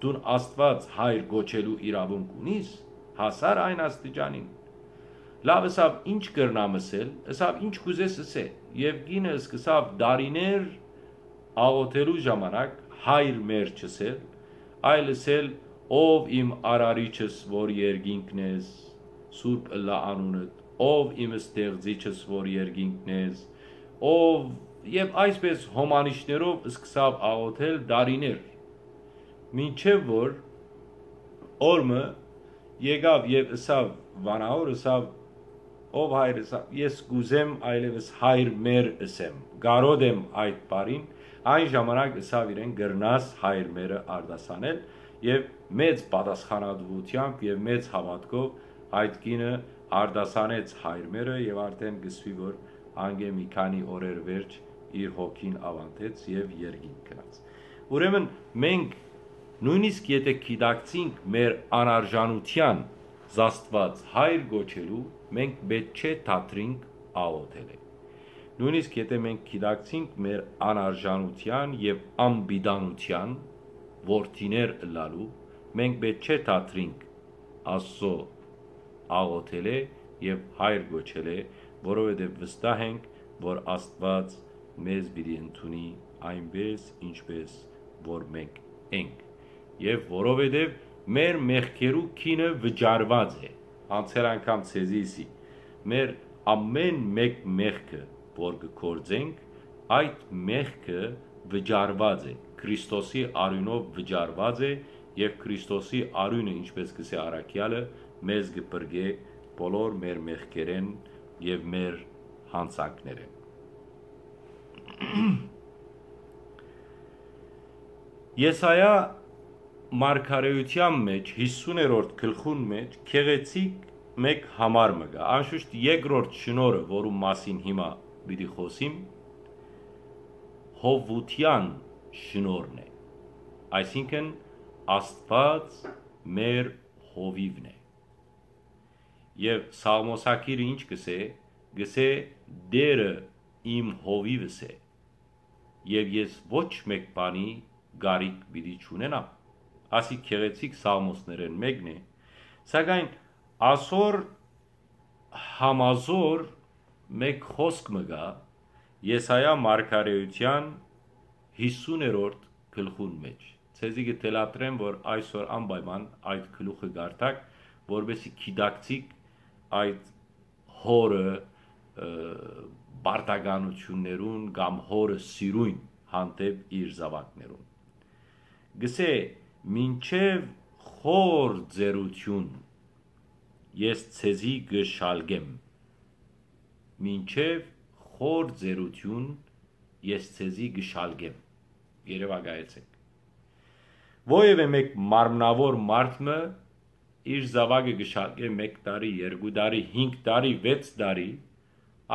դուն Աստուած հայր կոչելու իրաւունք ունիս, հասար այն աստիճանին։ Լաւ, ըսաւ, ինչ կրնամ ըսել, ըսաւ, ինչ կուզես ըսե, եւ կինը սկսաւ դարիներ աղոթելու ժամանակ հայր մեր չըսել, այլ ըսել, ով իմ արարիչս, որ երկինքն ես, սուրբ ըլլայ անունդ, ով իմ ստեղծիչս, որ երկինքն ես, ով, եւ այսպես հոմանիշներով սկսաւ աղոթել դարիներ, մինչեւ որ օր մը եկաւ եւ ըսաւ, վանաոր ըսաv, ով հայր, ըսաv, ես կուզեմ այլեւս հայր մեր ըսեմ, կարոտ եմ այդ բառին, այն ժամանակ ըսաv իրեն, կրնաս հայր մերը արտասանել, Եւ մեծ պատասխանատուութեամբ եւ մեծ հաւատքով այդ կինը արտասանեց հայրմերը եւ արդէն կսուի, որ անգէ մի քանի օրեր վերջ իր հոգին աւանդեց եւ երկինք գնաց։ Ուրեմն մենք նոյնիսկ եթե գիտակցինք մեր անարժանութեան զաստուած հայր գոչելու, մենք պետք չէ թատրինք աղոթելէ։ Նոյնիսկ եթե մենք գիտակցինք մեր անարժանութեան եւ անպիտանութեան որդիներ ըլլալու, մենք պետք չէ թատրինք Աստծո աղոթելէ եւ հայր գոչելէ, որովհետեւ վստահ ենք, որ Աստուած մեզ պիտի ընդունի այնպես, ինչպես որ մենք ենք, եւ որովհետեւ մեր մեղքերու գինը վճարուած է։ Անցեր անգամ ցեզի ըսի, մեր ամէն մէկ մեղքը, որ կը գործենք, այդ մեղքը վճարուած է, Քրիստոսի արիւնով վճարուած է, եւ Քրիստոսի արիւնը, ինչպես կսէ առաքեալը, մեզ կը փրկէ բոլոր մեր մեղքերէն եւ մեր յանցանքներէն։ Եսայա մարգարէութեան մէջ, հիսուներորդ գլխուն մէջ, գեղեցիկ մէկ համար մը կայ։ Անշուշտ երկրորդ շնորհը, որու մասին հիմա պիտի խօսիմ, հովութեան շնորհն է։ Այսինքն, Աստուած մեր հովիւն է։ Եւ Սաղմոսագիրը ինչ կսէ, կսէ. «Տէրը իմ հովիւս է, եւ ես ոչ մէկ բանի կարիք պիտի չունենամ»։ Ասի գեղեցիկ սաղմոսներէն մէկն է, սակայն ասոր համազոր մէկ խօսք մը կայ Եսայա մարգարէութեան հիսուներորդ գլխուն մէջ։ Ցեզի կը թելադրեմ, որ այսօր անպայման այդ գլուխը կարդաք, որպեսզի գիտակցիք այդ հորը, ը, պարտականութիւններուն կամ հորը սիրոյն հանդէպ իր զաւակներուն։ Գսէ. «Մինչեւ խոր ծերություն ես ցեզի կը շալկեմ»։ «Մինչեւ խոր ծերություն ես ցեզի կը շալկեմ»։ Երեւակայեցէք։ Որեւէ մէկ մարմնաւոր մարդ մը իր զաւակը կը շալկէ մէկ տարի, երկու տարի, հինգ տարի, վեց տարի,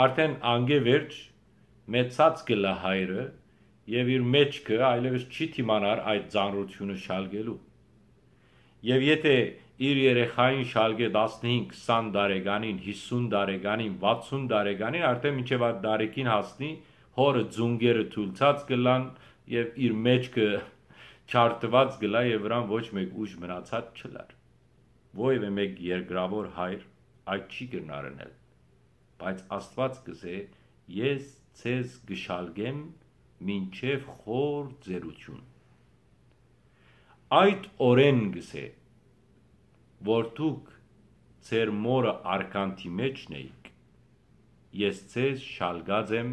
արդէն անկէ վերջ մեծած կ'ըլլայ հայրը եւ իր մէջքը այլեւս չի դիմանար այդ ծանրութիւնը շալկելու։ Եւ եթէ իր երեխային շալկէ տասնհինգ, քսան տարեկանին, հիսուն տարեկանին, վաթսուն տարեկանին, արդէն մինչեւ այդ տարիքին հասնի, հորը ծունկերը թուլցած կ'ըլլան եւ իր մէջքը չարտուած կ'ըլլայ եւ վրան ոչ մէկ ուժ մնացած չըլլար։ Որեւէ մէկ երկրաւոր հայր այդ չի կրնար ընել, բայց Աստուած կ'ըսէ. «Ես ցեզ կը շալկեմ մինչեւ խոր ծերություն»։ Այդ օրէն, կ'ըսէ, որ դուք ձեր մօրը արքանթի մէջն էիք, ես ձեզ շալկած եմ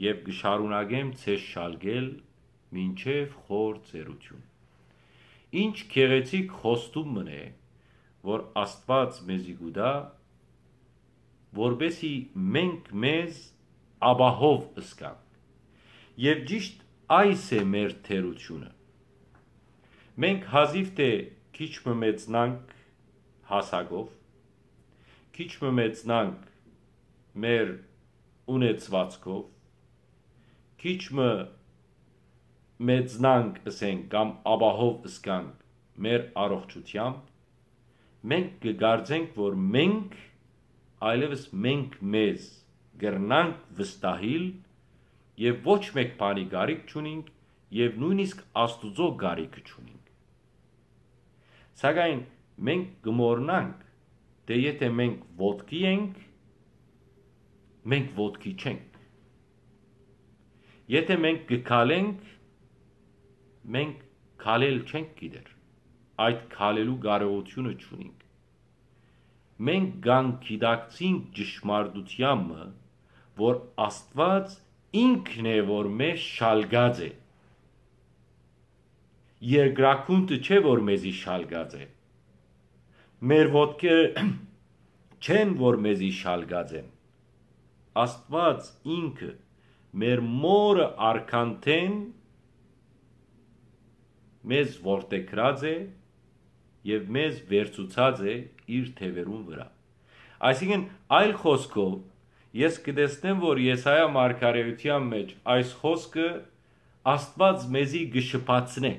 եւ կը շարունակեմ ձեզ շալկել մինչեւ խոր ծերություն։ Ինչ գեղեցիկ խոստում մըն է, որ Աստուած մեզի կու տայ, որպեսզի մենք մեզ ապահով զգանք։ Եւ ճիշդ այս է մեր թերությունը։ Մենք հազիւ թէ քիչ մը մեծնանք հասակով, քիչ մը մեծնանք մեր ունեցուածքով, քիչ մը մեծնանք, ըսենք, կամ ապահով զգանք մեր առողջութեամբ, մենք կը կարծենք, որ մենք, այլեւս մենք մեզ կրնանք վստահիլ եւ ոչ մէկ բանի կարիք չունինք եւ նոյնիսկ Աստուծոյ կարիքը չունինք։ Սակայն մենք կը մոռնանք, թէ եթէ մենք ոտքի ենք, մենք ոտքի չենք։ Եթէ մենք կը քալենք, մենք քալել չենք գիտեր։ Այդ քալելու կարողութիւնը չունինք։ Մենք կանգիտակցինք ճշմարտութեան մը, որ Աստուած ինքն է, որ մեզ շալկած է։ Երկրագունդը չէ, որ մեզի շալկած է։ Մեր ոտքերը չեն, որ մեզի շալկած են։ Աստուած ինքը մեր մօրը արքանթէն մեզ որդեգրած է եւ մեզ վերցուցած է իր թեւերուն վրայ։ Այսինքն, այլ խօսքով, ես կը տեսնեմ, որ Եսայա մարգարէութեան մէջ այս խօսքը Աստուած մեզի կը շփացնէ,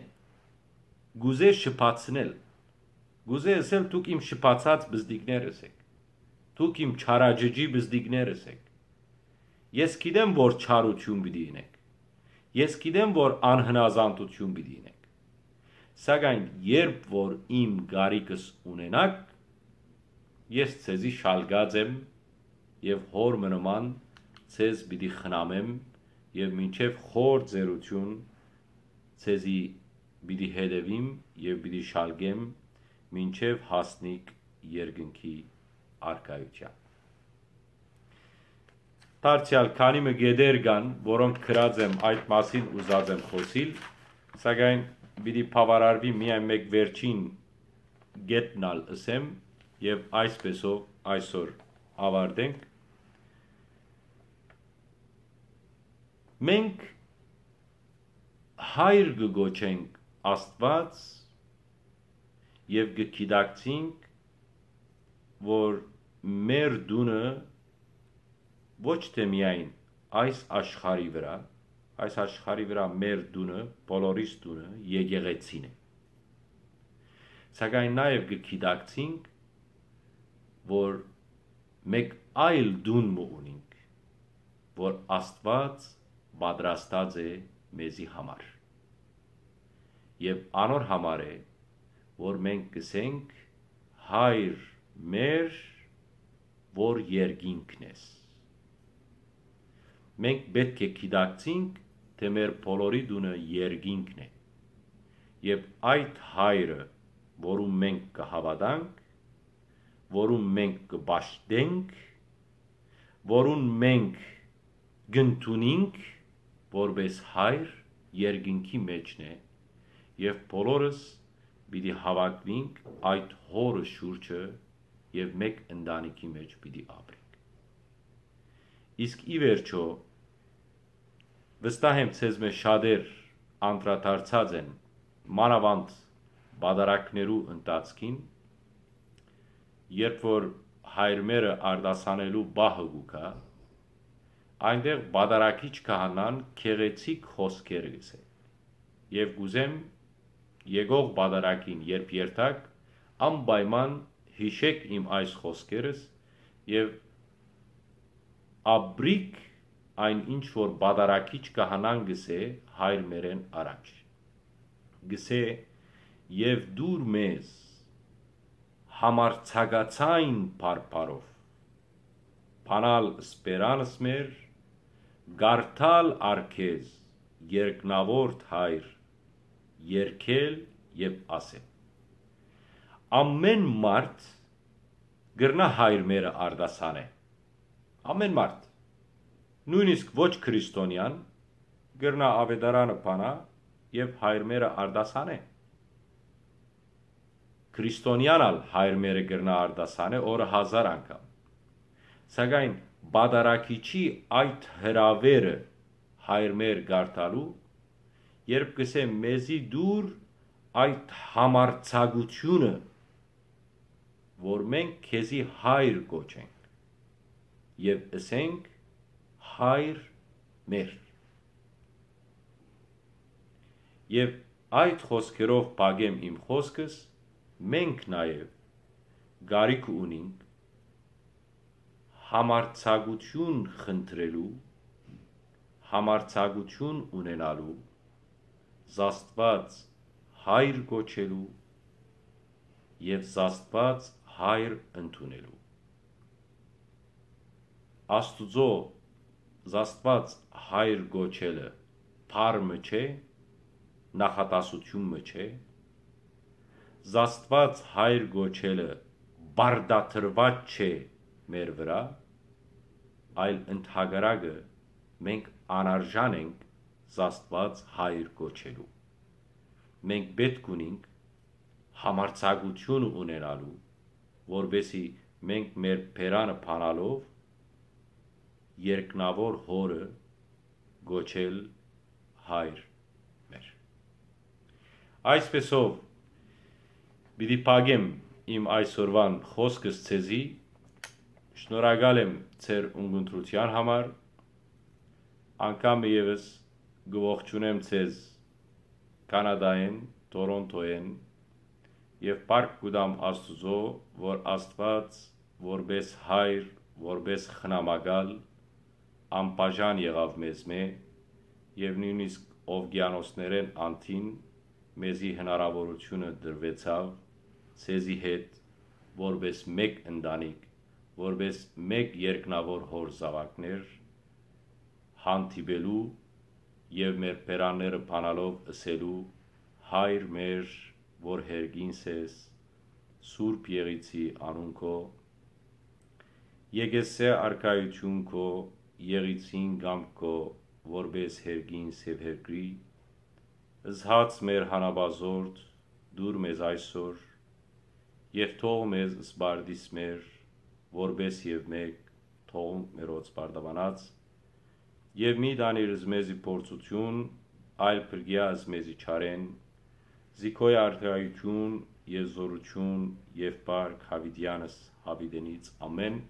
կ'ուզէ շփացնել, կ'ուզէ ըսել. «Դուք իմ շփացած բզդիկներս էք, դուք իմ չարաճճի բզդիկներս էք։ Ես գիտեմ, որ չարութիւն պիտի ընէք, ես գիտեմ, որ անհնազանդութիւն պիտի ընէք, սակայն երբ որ իմ կարիքս ունենաք, ես ձեզի շալկած եմ եւ հօր մը նման ձեզ պիտի խնամեմ եւ մինչեւ խոր ծերութիւն ձեզի պիտի հետեւիմ եւ պիտի շալկեմ, մինչեւ հասնիք երկնքի առկայութեան»։ Դարձեալ քանի մը կետեր կան, որոնք գրած եմ, այդ մասին ուզած եմ խօսիլ, սակայն պիտի բաւարարուի միայն մէկ վերջին կետն ալ ըսեմ, եւ այսպեսով այսօր աւարտենք։ Մենք հայր կը կոչենք Աստուած եւ կը գիտակցենք, որ մեր տունը ոչ թէ միայն այս աշխարհի վրայ, այս աշխարհի վրայ մեր տունը, բոլորիս տունը եկեղեցին է, սակայն նաեւ կը գիտակցենք, որ մէկ այլ տուն մը ունինք, որ Աստուած պատրաստած է մեզի համար։ Եւ անոր համար է, որ մենք կ'ըսենք. «Հայր մեր, որ երկինքն ես»։ Մենք պէտք է գիտակցենք, թէ մեր բոլորի տունը երկինքն է։ Եւ այդ հայրը, որուն մենք կը հաւատանք, որուն մենք կը պաշտենք, որուն մենք կ'ընդունինք որպէս հայր, երկինքի մէջն է, եւ բոլորս պիտի հաւաքուինք այդ հորը շուրջը եւ մէկ ընտանիքի մէջ պիտի ապրենք։ Իսկ ի վերջոյ, վստահ եմ, ձեզմէ շատեր անդրադարձած են մանաւանդ պատարագներու ընթացքին, երբ որ հայրմերը արտասանելու պահը կու գայ, այնտեղ պատարագիչ քահանան գեղեցիկ խօսքեր կ'ըսէ։ Եւ կ'ուզեմ, եկող պատարագին երբ երթաք, անպայման յիշէք իմ այս խօսքերս եւ ապրիք այն, ինչ որ պատարագիչ քահանան կ'ըսէ հայրմերէն առաջ։ Կ'ըսէ. «Եւ տուր մեզ համարձակացայն բարբառով բանալ սպերանս մեր, կարդալ առ քեզ երկնաւորդ հայր, երգել եւ ասել»։ Ամեն մարդ կրնայ հայրմերը արտասանէ։ Ամեն մարդ, նոյնիսկ ոչ քրիստոնեան, կրնայ աւետարանը բանայ եւ հայրմերը արտասանէ։ Քրիստոնեան ալ հայրմերը կրնայ արտասանէ օրը հազար անգամ։ Սակայն պատարագիչի այդ հրաւերը հայրմեր կարդալու, երբ կ'ըսէ. «Մեզի տուր այդ համարձակութիւնը, որ մենք քեզի հայր կոչենք եւ ըսենք. Հայր մեր»։ Եւ այդ խօսքերով փակեմ իմ խօսքս, մենք նաեւ կարիք ունինք համարձակութիւն խնդրելու, համարձակութիւն ունենալու, Աստուած հայր կոչելու եւ Աստուած հայր ընդունելու։ Աստուծոյ Աստուած հայր կոչելը բառ մը չէ, նախատասութիւն մը չէ, Աստուած հայր կոչելը պարտադրուած չէ մեր վրայ, այլ ընդհակառակը, մենք անարժան ենք Աստուած հայր կոչելու։ Մենք պէտք ունինք համարձակութիւն ունենալու, որպեսզի մենք մեր բերանը բանալով երկնաւոր Հօրը կոչել հայր մեր։ Այսպեսով, պիտի փակեմ իմ այսօրուան խօսքս ձեզի։ Շնորհակալ եմ ձեր ունկնդրութեան համար։ Անգամ մը ևս կը ողջունեմ ձեզ Կանադայէն, Թորոնթոյէն, եւ փառք կու տամ Աստուծոյ, որ Աստուած որպէս հայր, որպէս խնամակալ, անբաժան եղաւ մեզմէ, եւ նոյնիսկ ովկիանոսներէն անդին մեզի հնարաւորութիւնը տրուեցաւ, ձեզի հետ, որպէս մէկ ընտանիք, որպէս մէկ երկնաւոր Հօր զաւակներ, հանդիպելու եւ մեր բերանները բանալով ըսելու. «Հայր մեր, որ հերկինս ես, Սուրբ Եղիցի անուն քո, եկեսէ արքայութիւն քո, Եղիցին կամք քո, որպէս հերկինս եւ հերկրի, զհաց մեր հանապազորդ տուր մեզ այսօր, եւ թող մեզ սպարտիս մեր, որպէս եւ մէկ թողունք մերոց պարտաւանած, եւ մի տանիր ըզ մեզի փորձութիւն, այլ փրկիա ըզ մեզի չարէն, զի քոյ արքայութիւն եւ զօրութիւն եւ փառք յաւիտեանս յաւիտենից։ Ամէն։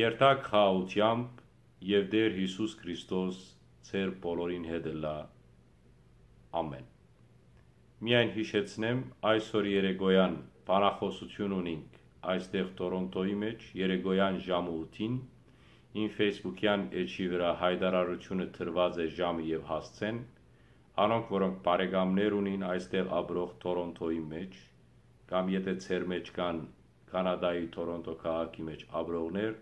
Երթաք խաղաղութեամբ, եւ Տէր Յիսուս Քրիստոս ձեր բոլորին հետ ըլլայ։ Ամէն։ Միայն յիշեցնեմ, այսօր երեկոյան բանախօսութիւն ունինք այստեղ Թորոնթոյի մէջ, երեկոյան ժամը ութին, իմ Facebook-յան էջի վրայ յայտարարութիւնը տրուած է ժամը եւ հասցէն։ Անոնք, որոնք բարեկամներ ունին այստեղ ապրող Թորոնթոյի մէջ, կամ եթէ ձեր մէջ կան Կանադայի Թորոնթո քաղաքի մէջ ապրողներ,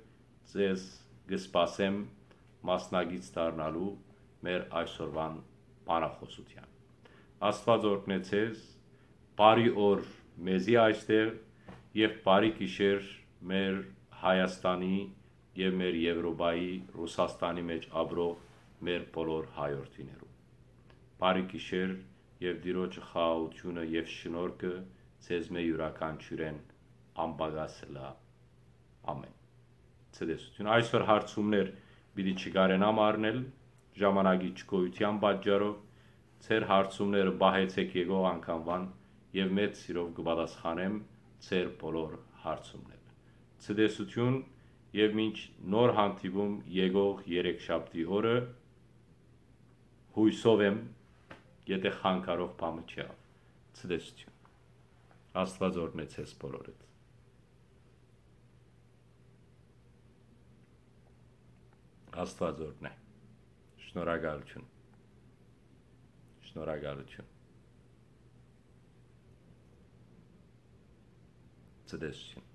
ձեզ կը սպասեմ մասնակից դառնալու մեր այսօրուան բանախօսութեան։ Աստուած օրհնէ ձեզ, բարի օր մեզի այստեղ եւ բարի գիշեր մեր Հայաստանի եւ մեր Եւրոպայի, Ռուսաստանի մէջ ապրող մեր բոլոր հայրենիներուն։ Բարի գիշեր եւ Տիրոջը խաղաղութիւնը եւ շնորհքը ձեզմէ իւրաքանչիւրէն անպակաս ըլլայ։ Ամէն։ Ցտեսութիւն։ Այսօր հարցումներ պիտի չկարենամ առնել, ժամանակի չկոյութեան պատճառով, ձեր հարցումները պահեցէք եկող անգամուան եւ մեծ սիրով կը պատասխանեմ ձեր բոլոր հարցումները։ Ցտեսութիւն եւ մինչ նոր հանդիպում եկող երեքշաբթի օրը, յուսով եմ, եթէ խանգարող բան մը չեղաւ։ Ցտեսութիւն։ Աստուած օրհնեցե ձեզ բոլորիդ։ Աստուած օրհնէ։ Շնորհակալութիւն։ Շնորհակալութիւն։ Ցտեսութիւն։